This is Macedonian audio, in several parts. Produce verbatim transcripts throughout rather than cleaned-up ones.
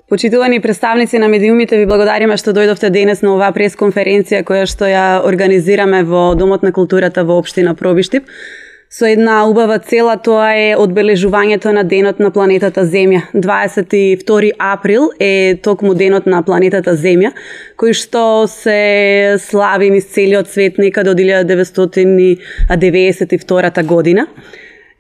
Почитувани представници на медиумите, ви благодариме што дојдовте денес на оваа пресконференција која што ја организираме во Домот на културата во општина Пробиштип. Со една убава цела, тоа е одбележувањето на денот на планетата Земја. дваесет и втори април е токму денот на планетата Земја, кој што се слави низ целиот свет некаде од илјада деветстотини деветдесет и втора година.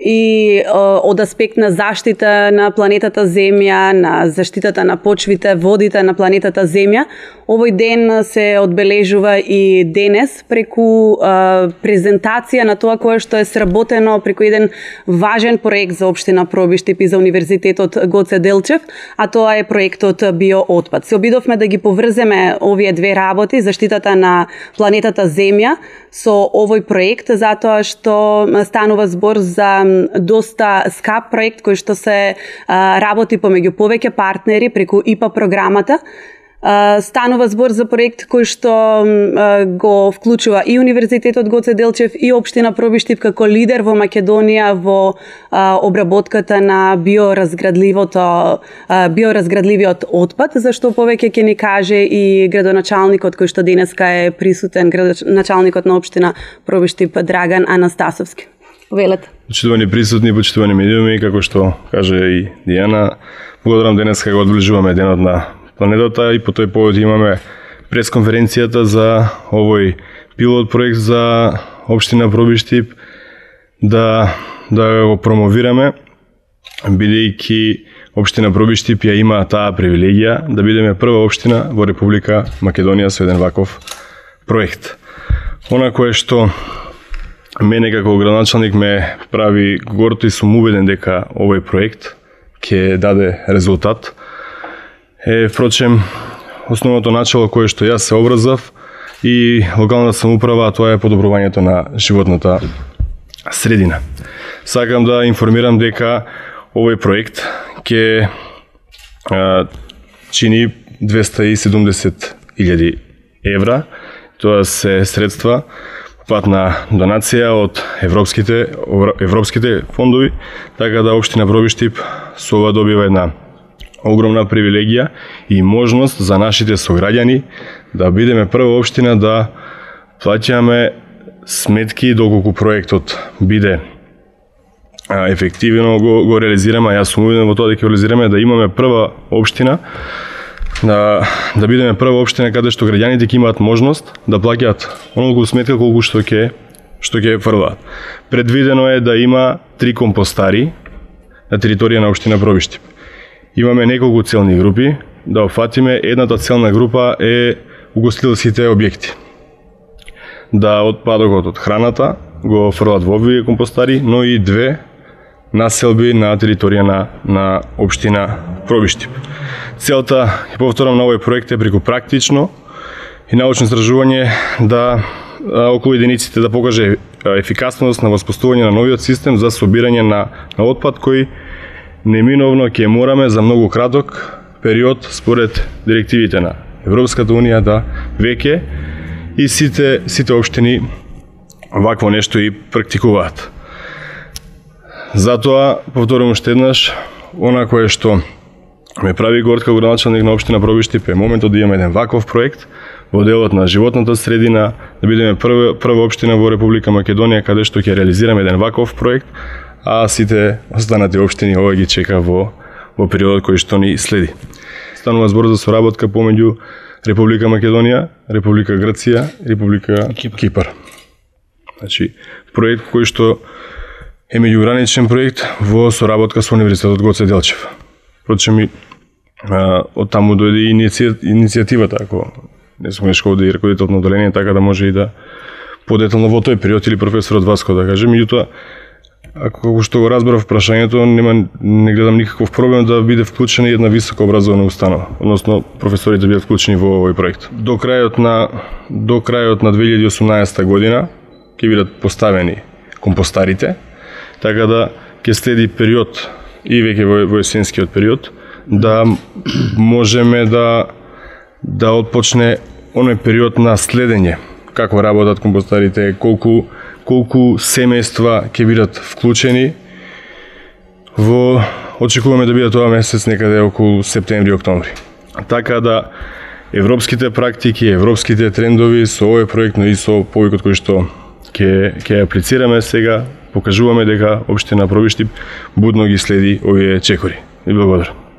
И од аспект на заштита на планетата Земја, на заштитата на почвите, водите на планетата Земја, овој ден се одбележува и денес преку а, презентација на тоа кое што е сработено преку еден важен проект за општина Пробиштип и за Универзитетот Гоце Делчев, а тоа е проектот Биоотпад. Се обидовме да ги поврземе овие две работи, заштитата на планетата Земја со овој проект, затоа што станува збор за доста скап проект кој што се а, работи помеѓу повеќе партнери преку ИПА програмата. Uh, станува збор за проект кој што uh, го вклучува и Универзитетот Гоце Делчев и општина Пробиштип како лидер во Македонија во uh, обработката на биоразградливото uh, биоразградливиот отпад, зашто повеќе ќе ни каже и градоначалникот кој што денеска е присутен, градоначалникот на општина Пробиштип Драган Анастасовски. Велете. Почитувани присутни, почитувани медиуми, како што каже и Дијана, благодарам денеска го одбележуваме денот на планетата и по тој повод имаме пресконференцијата за овој пилот проект за општина Пробиштип да да го промовираме, бидејќи општина Пробиштип ја има таа привилегија да бидеме прва општина во Република Македонија со еден ваков проект. Она кое што мене како градоначалник ме прави гордо и сум убеден дека овој проект ќе даде резултат е, впрочем, основното начало кое што јас се образав и локалната самоуправа, тоа е подобрувањето на животната средина. Сакам да информирам дека овој проект ќе чини двеста и седумдесет илјади евра. Тоа се средства пат на донација од европските европските фондови, така да општина Пробиштип со ова добива една огромна привилегија и можност за нашите сограѓани да бидеме прва општина да плаќаме сметки доколку проектот биде а, ефективно го, го реализираме, а јас сум убеден во тоа дека го реализираме, да имаме прва општина, да, да бидеме прва општина каде што граѓаните ќе имаат можност да плаќаат онолку сметка колку што ќе што ќе фрлаат. Предвидено е да има три компостари на територија на општина Пробиштип. Имаме неколку целни групи, да опфатиме. Едната целна група е угостителските објекти. Да отпадокот од храната го фрлат во овие компостари, но и две населби на територија на, на општина Пробиштип. Целта, и повторам, на овој проект е преку практично и научно истражување да околу единиците да покаже ефикасност на воспоставување на новиот систем за собирање на, на отпад кој неминовно ќе мораме за многу краток период според директивите на Европската унија да веќе и сите сите општини вакво нешто и практикуваат. Затоа повторувам уште еднаш, она кое што ме прави горд како градоначалник на општина Пробиштип е моментот да имаме еден ваков проект во делот на животната средина, да бидеме прва прва општина во Република Македонија каде што ќе реализираме еден ваков проект, а сите останати општини ова ги чека во во периодот кој што ни следи. Станува збор за соработка помеѓу Република Македонија, Република Грција и Република Кипар. Кипар. Значи, проект кој што е меѓуграничен проект во соработка со Универзитетот Гоце Делчев. Впрочем, и од таму дојде и иницијативата, ако не сум нешко да и ръководител на одделение, така да може и да подетално во тој период или професорот Васко да каже. Меѓутоа, ако што го разбрав прашањето, нема не гледам никаков проблем да биде вклучена една високо образована установа, односно професорите бидат вклучени во овој проект. До крајот на до крајот на две илјади и осумнаесета година ќе бидат поставени компостарите, така да ќе следи период и веќе во, во есенскиот период да можеме да да отпочне оној период на следење како работат компостарите, колку колку семејства ќе бидат вклучени во очекуваме да биде тоа месец некаде околу септември-октомври. Така да европските практики, европските трендови со овој проект, но и со повикот кој што ќе ќе аплицираме сега, покажуваме дека општина Пробиштип будно ги следи овие чекори. И благодарам.